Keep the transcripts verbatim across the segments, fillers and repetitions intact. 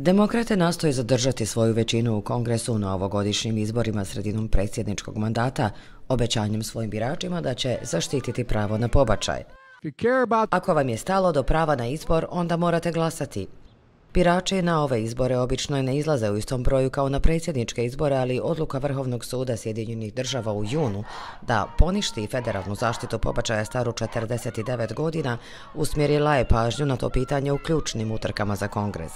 Demokrate nastoje zadržati svoju većinu u Kongresu na ovogodišnjim izborima sredinom predsjedničkog mandata, obećanjem svojim biračima da će zaštititi pravo na pobačaj. Ako vam je stalo do prava na izbor, onda morate glasati. Birači na ove izbore obično ne izlaze u istom broju kao na predsjedničke izbore, ali odluka Vrhovnog suda Sjedinjenih država u junu da poništi federalnu zaštitu pobačaja staru četrdeset devet godina usmjerila je pažnju na to pitanje u ključnim utrkama za Kongres.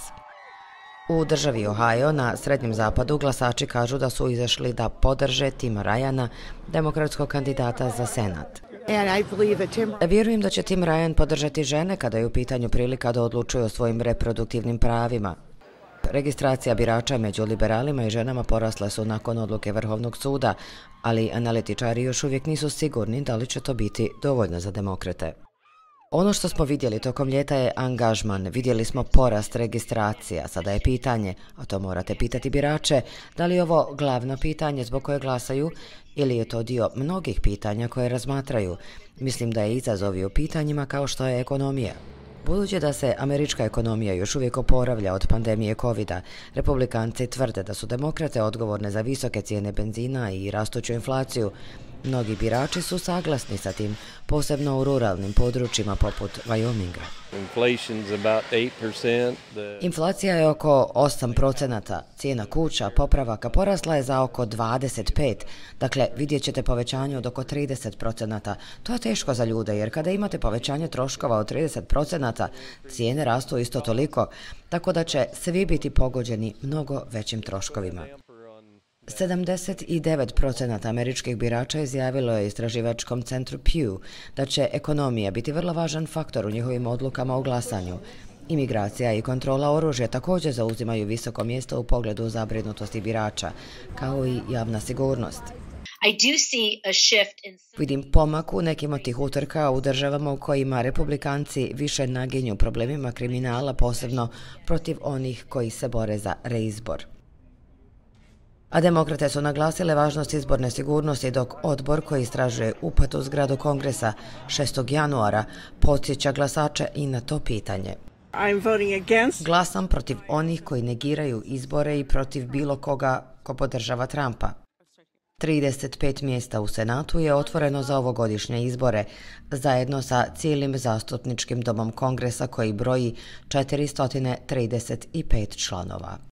U državi Ohio na Srednjem zapadu glasači kažu da su izašli da podrže Tima Ryana, demokratskog kandidata za Senat. Vjerujem da će Tim Ryan podržati žene kada je u pitanju prilika da odlučuju o svojim reproduktivnim pravima. Registracija birača među liberalima i ženama porasle su nakon odluke Vrhovnog suda, ali analitičari još uvijek nisu sigurni da li će to biti dovoljno za demokrate. Ono što smo vidjeli tokom ljeta je angažman, vidjeli smo porast registracija, sada je pitanje, a to morate pitati birače, da li je ovo glavno pitanje zbog koje glasaju ili je to dio mnogih pitanja koje razmatraju. Mislim da je izazov i u pitanjima kao što je ekonomija. Budući da se američka ekonomija još uvijek oporavlja od pandemije kovida, republikanci tvrde da su demokrate odgovorne za visoke cijene benzina i rastuću inflaciju. Mnogi birači su saglasni sa tim, posebno u ruralnim područjima poput Wyominga. Inflacija je oko osam procenata, cijena kuća, popravaka porasla je za oko dvadeset pet, dakle vidjet ćete povećanje od oko trideset procenata. To je teško za ljude jer kada imate povećanje troškova od trideset procenata, cijene rastu isto toliko, tako da će svi biti pogođeni mnogo većim troškovima. sedamdeset devet procenata američkih birača izjavilo je istraživačkom centru Pew da će ekonomija biti vrlo važan faktor u njihovim odlukama o glasanju. Imigracija i kontrola oružja također zauzimaju visoko mjesto u pogledu zabrinutosti birača, kao i javna sigurnost. Vidim pomak u nekim od tih utrka u državama u kojima republikanci više naginju problemima kriminala, posebno protiv onih koji se bore za reizbor. A demokrate su naglasile važnost izborne sigurnosti dok odbor koji istražuje upad u zgradu Kongresa šestog januara podsjeća glasače i na to pitanje. Glasam protiv onih koji negiraju izbore i protiv bilo koga ko podržava Trumpa. trideset pet mjesta u Senatu je otvoreno za ovogodišnje izbore, zajedno sa cijelim zastupničkim domom Kongresa koji broji četiristo trideset pet članova.